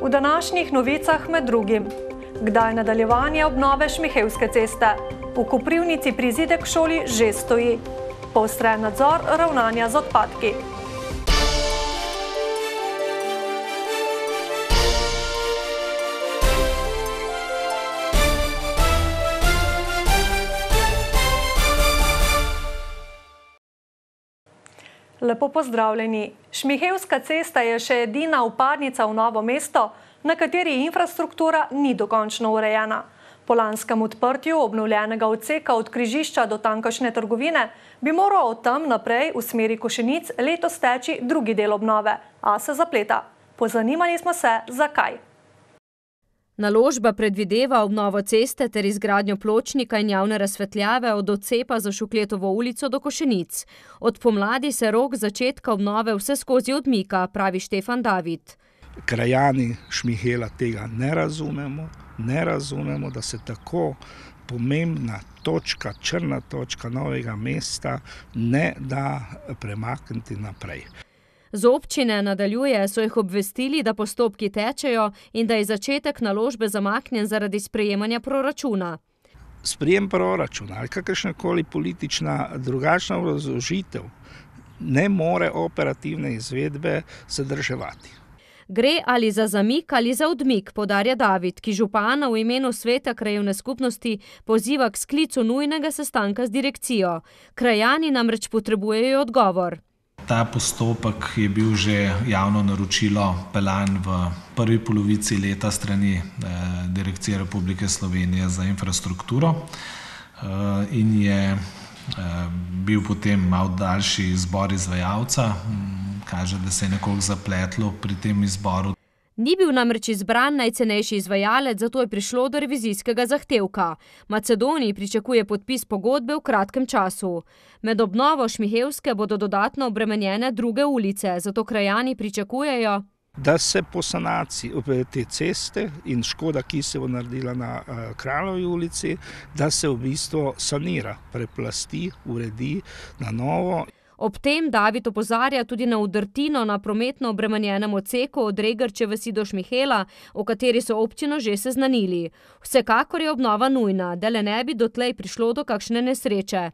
V današnjih novicah med drugim: kdaj nadaljevanje obnove Šmihevske ceste? V Koprivnici prizidek šoli že stoji. Poostren nadzor ravnanja z odpadki. Lepo pozdravljeni. Šmihevska cesta je še edina vpadnica v Novo mesto, na kateri infrastruktura ni dokončno urejena. Po lanskem odprtju obnovljenega odseka od križišča do tamkajšnje trgovine bi moral od tam naprej v smeri Košenic letos teči drugi del obnove, a se zapleta. Pozanimali smo se, zakaj. Naložba predvideva obnovo ceste ter izgradnjo pločnika in javne razsvetljave od odcepa za Šukletovo ulico do Košenic. Od pomladi se rok začetka obnove vseskozi odmika, pravi Štefan David. Krajani Šmihela tega ne razumemo, da se tako pomembna točka, črna točka Novega mesta ne da premakniti naprej. Z občine nadaljuje, so jih obvestili, da postopki tečejo in da je začetek naložbe zamaknjen zaradi sprejemanja proračuna. Sprejem proračuna ali kakršnakoli politična drugačna obrazložitev ne more operativne izvedbe zadrževati. Gre ali za zamik ali za odmik, poudarja David, ki župana v imenu sveta krajevne skupnosti poziva k sklicu nujnega sestanka z direkcijo. Krajani namreč potrebujejo odgovor. Ta postopek je bil že javno naročilo peljan v prvi polovici leta strani Direkcije Republike Slovenije za infrastrukturo in je bil potem malo daljši izbor izvajalca. Kaže, da se je nekoliko zapletlo pri tem izboru. Ni bil namreč izbran najcenejši izvajalec, zato je prišlo do revizijskega zahtevka. Macedoniji pričakuje podpis pogodbe v kratkem času. Med obnovo Šmihevske bodo dodatno obremenjene druge ulice, zato krajani pričakujejo, da se po sanaciji te ceste in škoda, ki se bo naredila na Kraljevi ulici, da se v bistvu sanira, preplasti, uredi na novo. Ob tem David opozarja tudi na udrtino na prometno obremenjenem odseku od Regrče vasi do Šmihela, o kateri so občino že seznanili. Vsekakor je obnova nujna, da le ne bi dotlej prišlo do kakšne nesreče.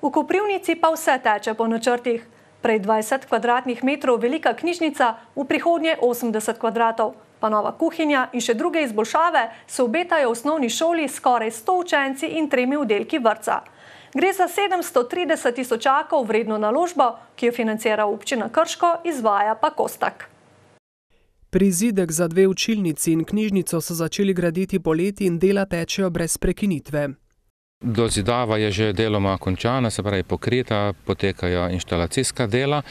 V Koprivnici pa vse teče po načrtih. Prej 20 kvadratnih metrov velika knjižnica, v prihodnje 80 kvadratov. Pa nova kuhinja in še druge izboljšave se obetajo v osnovni šoli s skoraj 100 učenci in 3 oddelki vrtca. Gre za 730 tisočakov vredno naložbo, ki jo financira občina Krško, izvaja pa Kostak. Prizidek za 2 učilnici in knjižnico so začeli graditi poleti in dela tečejo brez prekinitve. Dozidava je že deloma končana, se pravi pokrita, potekajo inštalacijska dela.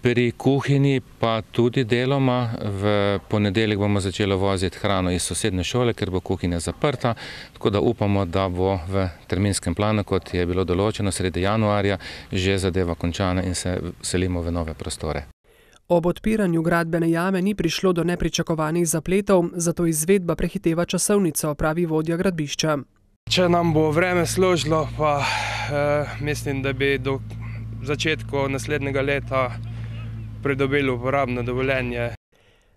Pri kuhinji pa tudi deloma. V ponedeljek bomo začeli voziti hrano iz sosednje šole, ker bo kuhinja zaprta, tako da upamo, da bo v terminskem planu, kot je bilo določeno sredi januarja, že zadeva končana in se selimo v nove prostore. Ob odpiranju gradbene jame ni prišlo do nepričakovanih zapletov, zato izvedba prehiteva časovnico, pravi vodja gradbišča. Če nam bo vreme služilo, pa mislim, da bi do začetka naslednjega leta pridobili uporabno dovoljenje.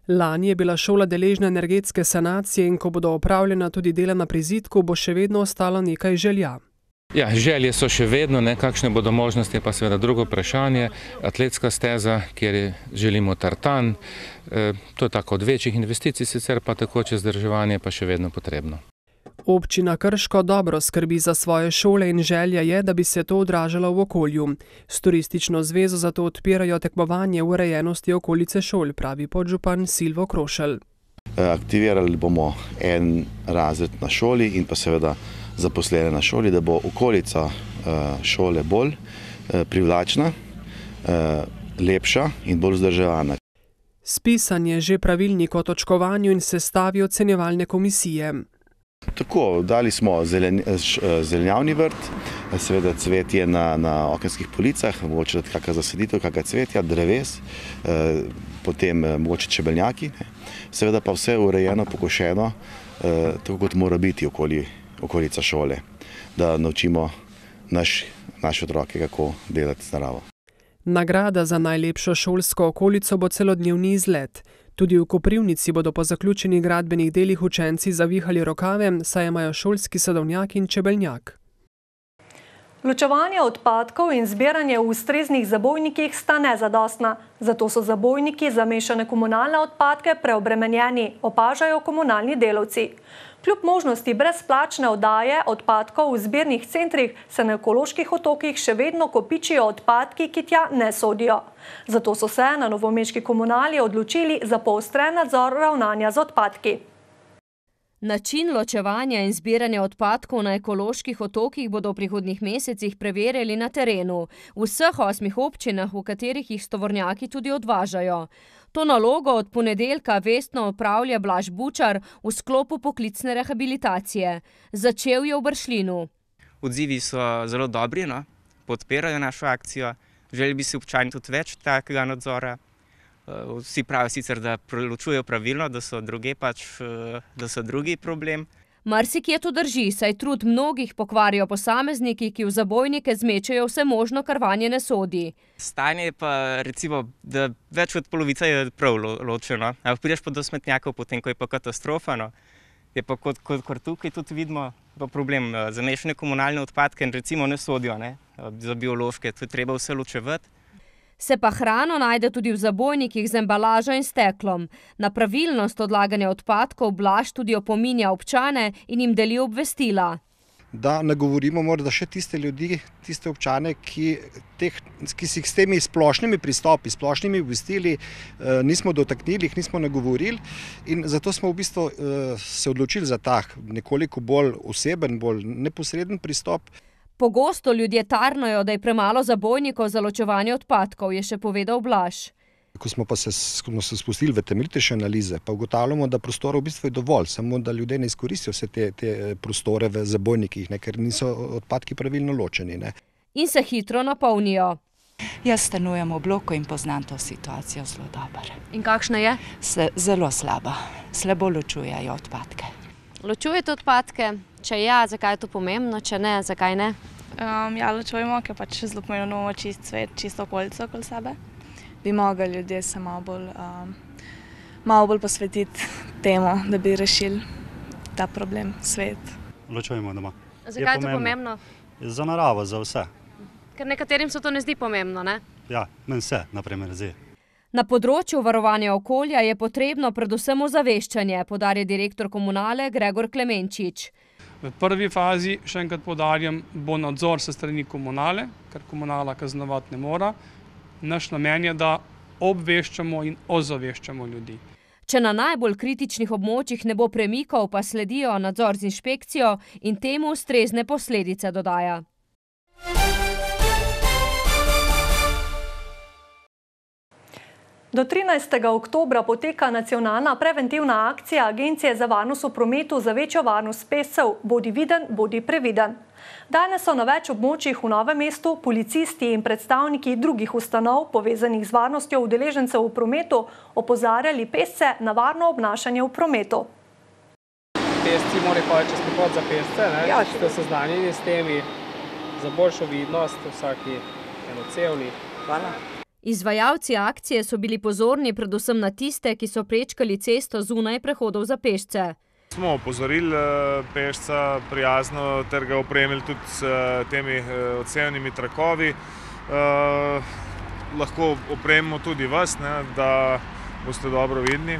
Lani je bila šola deležna energetske sanacije in ko bodo opravljena tudi dela na prizidku, bo še vedno ostalo nekaj želja. Ja, želje so še vedno, kakšne bodo možnosti, pa seveda drugo vprašanje. Atletska steza, kjer želimo tartan, to je tako od večjih investicij, sicer pa takoče vzdrževanje pa še vedno potrebno. Občina Krško dobro skrbi za svoje šole in želja je, da bi se to odražalo v okolju. S turistično zvezo zato odpirajo tekmovanje v urejenosti okolice šol, pravi podžupan Silvo Krošelj. Aktivirali bomo en razred na šoli in pa seveda zaposlene na šoli, da bo okolica šole bolj privlačna, lepša in bolj vzdrževana. Spisan je že pravilnik o točkovanju in sestavi ocenjevalne komisije. Tako, dali smo zelenjavni vrt, seveda cvetje na okenskih policah, mogoče kakšna zasaditev, kakšna cvetja, dreves, potem mogoče čebeljaki, seveda pa vse urejeno, pokošeno, tako kot mora biti okolica šole, da naučimo naše otroke, kako delati z naravo. Nagrada za najlepšo šolsko okolico bo celodnevni izlet. Tudi v Koprivnici bodo po zaključenih gradbenih delih učenci zavihali rokave, saj imajo šolski sadovnjak in čebeljak. Ločevanje odpadkov in zbiranje v ustreznih zabojnikih sta nezadostna, zato so zabojniki za mešane komunalne odpadke preobremenjeni, opažajo komunalni delavci. Kljub možnosti brezplačne oddaje odpadkov v zbirnih centrih se na ekoloških otokih še vedno kopičijo odpadki, ki tja ne sodijo. Zato so se na novomeški komunali odločili za poostren nadzor ravnanja z odpadki. Način ločevanja in zbiranja odpadkov na ekoloških otokih bodo v prihodnjih mesecih preverjali na terenu, v vseh 8 občinah, v katerih jih tovornjaki tudi odvažajo. To nalogo od ponedeljka vestno opravlja Blaž Bučar v sklopu poklicne rehabilitacije. Začel je v Bršljinu. Odzivi so zelo dobri, podpirajo našo akcijo. Želeli bi si občani tudi več takega nadzora. Vsi pravijo sicer, da ločujejo pravilno, da so drugi problem. Marsikje to drži, saj trud mnogih pokvarijo posamezniki, ki v zabojnike zmečejo vse možno, kar vanje ne sodi. Stanje je pa recimo, da več od polovice je prav ločeno. Prideš pa do smetnjakov, potem ko je pa katastrofa. Je pa kot tukaj tudi vidimo pa problem za mešane komunalne odpadke in recimo ne sodijo, za biološke, to je treba vse ločevati. Se pa hrano najde tudi v zabojnikih z embalažo in steklom. Na pravilnost odlaganja odpadkov Blaž tudi opominja občane in jim deli obvestila. Da nagovorimo morda še tiste ljudi, tiste občane, ki si jih s temi splošnimi pristopi, splošnimi obvestili nismo dotaknili, jih nismo nagovorili in zato smo v bistvu se odločili za tak nekoliko bolj oseben, bolj neposreden pristop. Pogosto ljudje tarnajo, da je premalo zabojnikov za ločevanje odpadkov, je še povedal Blaž. Ko smo se spustili v temeljitejše analize, pa ugotavljamo, da prostorov v bistvu je dovolj, samo da ljudje ne izkoristijo vse te prostore v zabojnikih, ker niso odpadki pravilno ločeni. In se hitro napolnijo. Jaz stanujem v bloku in poznam to situacijo zelo dobro. In kakšna je? Zelo slaba. Slabo ločujejo odpadke. Ločujete odpadke? Če ja, zakaj je to pomembno? Če ne, zakaj ne? Ja, ločujemo, ker pač zelo pomembno imamo čist svet, čisto okolico okoli sebe. Bi mogli ljudje se malo bolj posvetiti temu, da bi rešili ta problem, svet. Ločujemo doma. Zakaj je to pomembno? Za naravo, za vse. Ker nekaterim se to ne zdi pomembno, ne? Ja, meni se, naprimer, zdi. Na področju varovanja okolja je potrebno predvsem ozaveščanje, poudarja direktor komunale Gregor Klemenčič. V prvi fazi, še enkrat poudarjam, bo nadzor se strani komunale, ker komunala kaznovati ne mora. Naš namen je, da obveščamo in ozaveščamo ljudi. Če na najbolj kritičnih območjih ne bo premikov, pa sledijo nadzor z inšpekcijo in temu ustrezne posledice, dodaja. Do 13. oktobra poteka nacionalna preventivna akcija Agencije za varnost v prometu za večjo varnost pešcev Bodi viden, bodi previden. Danes so na več območjih v Novem mestu policisti in predstavniki drugih ustanov, povezanih z varnostjo udeležencev v prometu, opozarjali pešce na varno obnašanje v prometu. Pešci morajo hoditi čez prehod za pešce, če ste seznanjeni s temi, za boljšo vidnost vsaki enocevni. Hvala. Izvajalci akcije so bili pozorni predvsem na tiste, ki so prečkali cesto zunaj prehodov za pešce. Smo opozorili pešca prijazno ter ga opremili tudi s temi odsevnimi trakovi. Lahko opremimo tudi vas, da boste dobro vidni.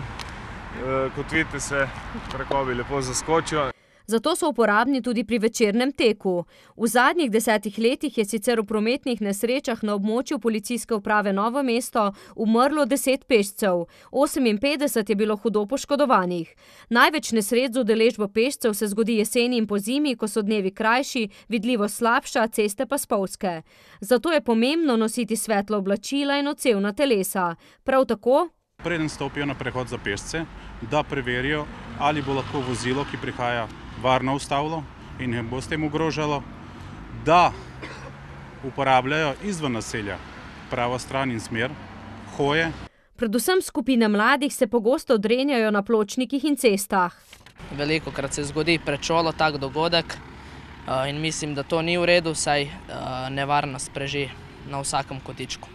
Kot vidite, se trakovi lepo zaskočijo. Zato so uporabni tudi pri večernem teku. V zadnjih 10 letih je sicer v prometnih nesrečah na območju policijske uprave Novo mesto umrlo 10 pešcev, 58 je bilo hudo poškodovanih. Največ nesreč z udeležbo pešcev se zgodi jeseni in pozimi, ko so dnevi krajši, vidljivost slabša, ceste pa spolzke. Zato je pomembno nositi svetla oblačila in odsevna telesa. Prav tako, preden stopijo na prehod za pešce, da preverijo, ali bo lahko vozilo, ki prihaja, varno ustavilo in ne bo s tem ogrožalo, da uporabljajo izven naselja pravo stran in smer, hoje. Predvsem skupine mladih se pogosto drenjajo na pločnikih in cestah. Velikokrat se zgodi pred šolo tak dogodek in mislim, da to ni v redu, saj nevarnost preži na vsakem kotičku.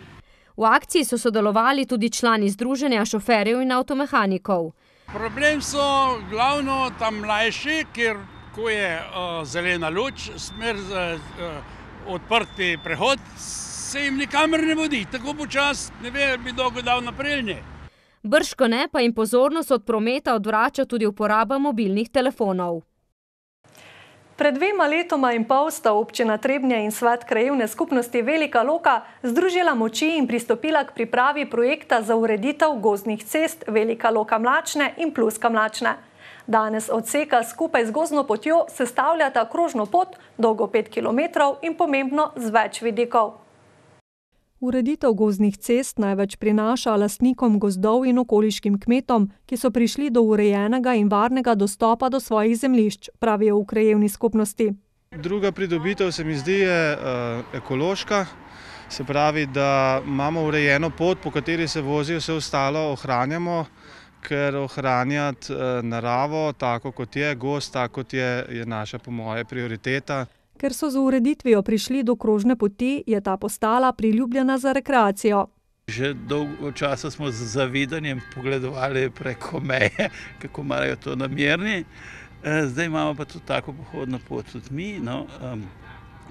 V akciji so sodelovali tudi člani Združenja šoferjev in avtomehanikov. Problem so glavno tam mlajši, ker ko je zelena luč, smer odprti prehod, se jim nikamer ne vodi. Tako počas ne ve, bi dolgo dal naprej. Bržkone pa jim pozornost od prometa odvrača tudi uporaba mobilnih telefonov. Pred 2 letoma in pol sta občina Trebnje in svet krajevne skupnosti Velika Loka združila moči in pristopila k pripravi projekta za ureditev gozdnih cest Velika Loka Mlačne in Pluska Mlačne. Danes odseka skupaj z gozdno potjo sestavljata krožno pot, dolgo 5 km in pomembno z več vidikov. Ureditev gozdnih cest največ prinaša lastnikom gozdov in okoliškim kmetom, ki so prišli do urejenega in varnega dostopa do svojih zemljišč, pravijo v krajevni skupnosti. Druga pridobitev se mi zdi je ekološka, se pravi, da imamo urejeno pot, po kateri se vozijo, vse ostalo ohranjamo, ker ohranjati naravo tako kot je, gozd tako kot je naša po moje prioriteta. Ker so z ureditvijo prišli do krožne poti, je ta postala priljubljena za rekreacijo. Že dolgo časa smo z zavidanjem pogledovali preko meje, kako imajo to namerni. Zdaj imamo pa tudi tako pohodno pot tudi mi. No,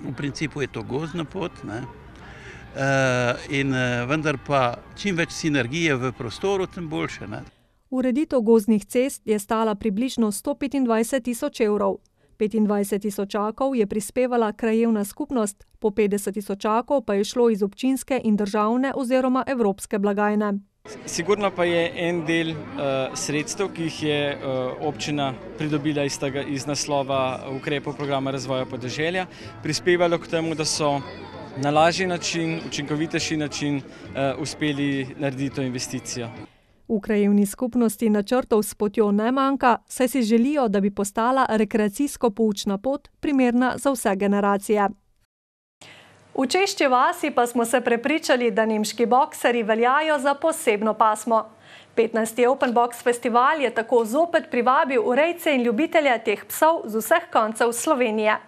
v principu je to gozdna pot, ne? Vendar pa čim več sinergije v prostoru, tem boljše. Ne? Ureditev gozdnih cest je stala približno 125 000 evrov. 25 tisočakov je prispevala krajevna skupnost, po 50 tisočakov pa je šlo iz občinske in državne oziroma evropske blagajne. Sigurno pa je en del sredstev, ki jih je občina pridobila iz naslova ukrepov programa razvoja podeželja, prispevalo k temu, da so na lažji način, učinkovitejši način uspeli narediti to investicijo. V krajevni skupnosti načrtov s potjo ne manjka, saj si želijo, da bi postala rekreacijsko-poučna pot primerna za vse generacije. V Češči vasi pa smo se prepričali, da nemški bokserji veljajo za posebno pasmo. 15. Open Box festival je tako zopet privabil rejce in ljubitelje teh psov z vseh koncev Slovenije.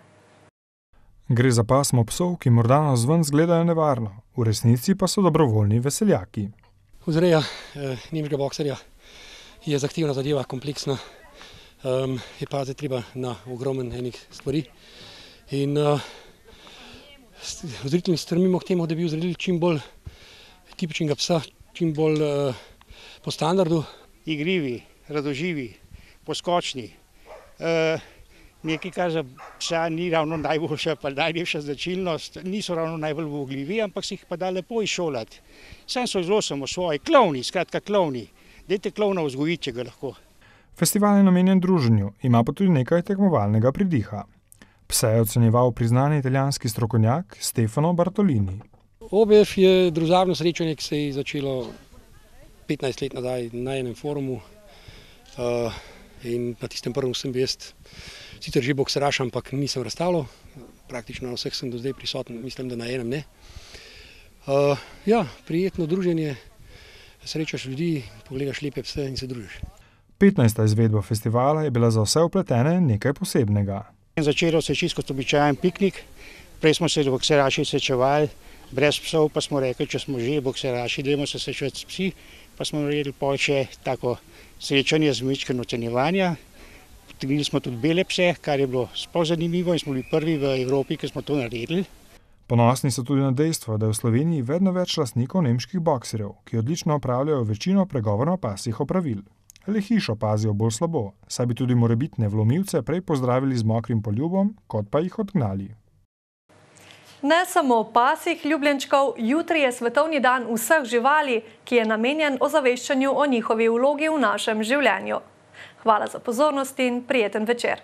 Gre za pasmo psov, ki morda navzven izgledajo nevarno, v resnici pa so dobrovoljni veseljaki. Vzreja nemškega bokserja je zahtevna zadeva, kompleksna, je paziti treba na ogromen enih stvari. In vzreditelji strmimo k temu, da bi vzredili čim bolj tipičnega psa, čim bolj po standardu. Igrivi, radoživi, poskočni. Nekaj, kar za psa ni ravno najboljša, pa najlepša značilnost, niso ravno najbolj vogljivi, ampak si jih pa da lepo izšolati. Sam so zelo samosvoji, klovni, skratka klovni. Dajte klovna vzgojiti, če ga lahko. Festival je namenjen druženju, ima pa tudi nekaj tekmovalnega pridiha. Pse je ocenjeval priznani italijanski strokovnjak Stefano Bartolini. OBF je družabno srečanje, ki se je začelo 15 let nazaj na enem forumu. In na tistem prvem sem bil jaz sicer že bokseraš, ampak nisem razstavljal. Praktično na vseh sem do zdaj prisoten, mislim, da na enem ne. Ja, prijetno druženje, srečaš ljudi, pogledaš lepe pse in se družiš. 15. izvedba festivala je bila za vse vpletene nekaj posebnega. Začelo se je čisto kot običajen piknik. Prej smo se bokseraši srečevali, brez psov pa smo rekli, če smo že bokseraši, dajmo se srečevati s psi, pa smo naredili pol še tako srečanje z majčkim ocenjevanja. Potegnili smo tudi bele pse, kar je bilo sploh zanimivo in smo bili prvi v Evropi, ki smo to naredili. Ponosni so tudi na dejstvo, da je v Sloveniji vedno več lastnikov nemških bokserjev, ki odlično opravljajo večino pregovorno-pasjih opravil. Le hišo pazijo bolj slabo, saj bi tudi morebitne vlomilce prej pozdravili z mokrim poljubom, kot pa jih odgnali. Ne samo pasjih ljubljenčkov, jutri je svetovni dan vseh živali, ki je namenjen ozaveščanju o njihovi vlogi v našem življenju. Hvala za pozornost in prijeten večer.